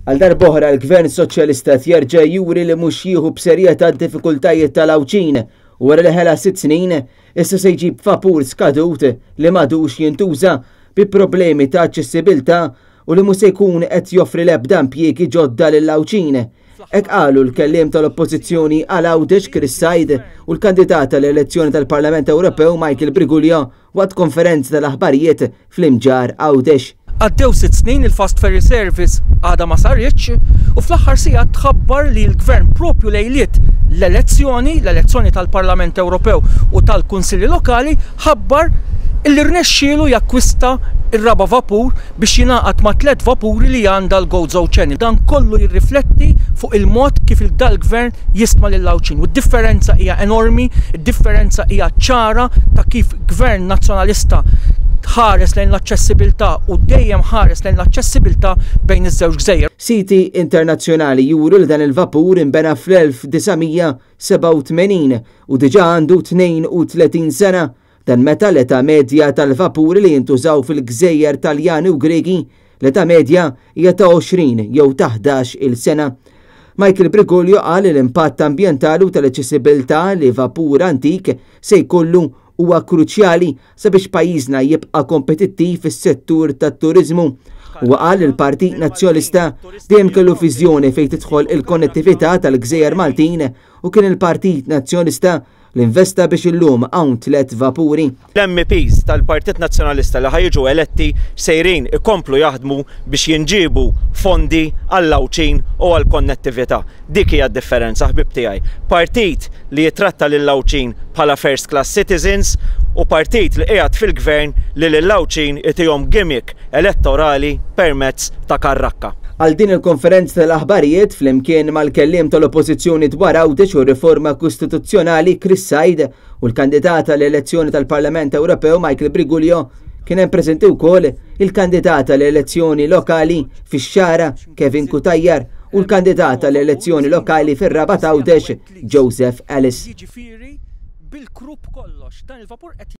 Għal darb'oħra l-Gvern Soċjalista qed jerġa' juri li mhux jieħu b'serjetà d-diffikultajiet tal-Għawdxin u wara li ħela sitt snin, issa se jġib vapur skadut li m'għadux jintuża bi problemi ta' aċċessibilità u li mhux se jkun qed joffri l-ebda impjiegi ġodda lill-Għawdxin. Hekk qalu l-kelliem tal-Oppożizzjoni għal Għawdex Chris Said u l-kandidat għall-elezzjoni tal-Parlament Ewropew Michael Briguglio waqt konferenza tal-aħbarijiet fl-Imġarr Għawdex. Għaddew sitt snin il-Fast Ferry Service għadha ma saritx u fl-aħħar sigħat tħabbar li l-Gvern propju lejliet l-elezzjoni, l-elezzjoni tal-Parlament Ewropew u tal-Kunsilli Lokali, ħabbar illi rnexxielu jakkwista r-raba' vapur biex jingħaqad mat-tlett vapuri li għandha l-Gozo Channel. Dan kollu jirrifletti fuq il-mod kif dal-Gvern jistma lill-Għawdxin u d-differenza hija enormi, id-differenza hija ċara ta' kif Gvern Nazzjonalista ħares lejn l-aċċessibilità u dejjem ħares lejn l-aċċessibilità bejn iż-żewġ gżejjer. Siti internazzjonali juru li dan il-vapur inbena fl-1987 u diġà għandu 32 sena. Dan meta l-età medja tal-vapuri li jintużaw fil-gżejjer Taljani u Griegi, l-età medja hija ta' 20 jew ta' 11 il sena. Michael Briguglio qal li l-impatt ambjentali u tal-aċċessibilità li vapur antik se jkollu huwa kruċjali sabiex pajjiżna jibqa' kompetittiv fis-settur tat-turiżmu. Huwa qal li l-Partit Nazzjonalista dejjem kellu viżjoni fejn tidħol il-konnettività tal-gżejjer Maltin u kien il-Partit Nazzjonalista li investa biex illum hawn tlett vapuri. L-MEPs tal-Partit Nazzjonalista li ħa jiġu eletti sejrin ikomplu jaħdmu biex jinġiebu fondi għall-Għawdxin u għall-konnettività. Dik hija d-differenza, ħbieb tiegħi. Partit li jitratta lill-Għawdxin bħala first class citizens u partit li qiegħed fil-Gvern li lill-Għawdxin itihom gimmick elettorali permezz ta' karrakka. Għal din il-konferenza tal-aħbarijiet, flimkien mal-kelliem tal-Oppożizzjoni dwar Għawdex u r-riforma kostituzzjonali Chris Said u l-kandidat għall-elezzjoni tal-Parlament Ewropew Michael Briguglio, kien hemm preżenti wkoll il-kandidat għall-elezzjoni lokali fix-Xagħra Kevin Cutajar u l-kandidat għall-elezzjoni lokali fir-Rabat Għawdex Joseph Ellis. Jiġifieri bil-krupp kollox dan il-vapur qed.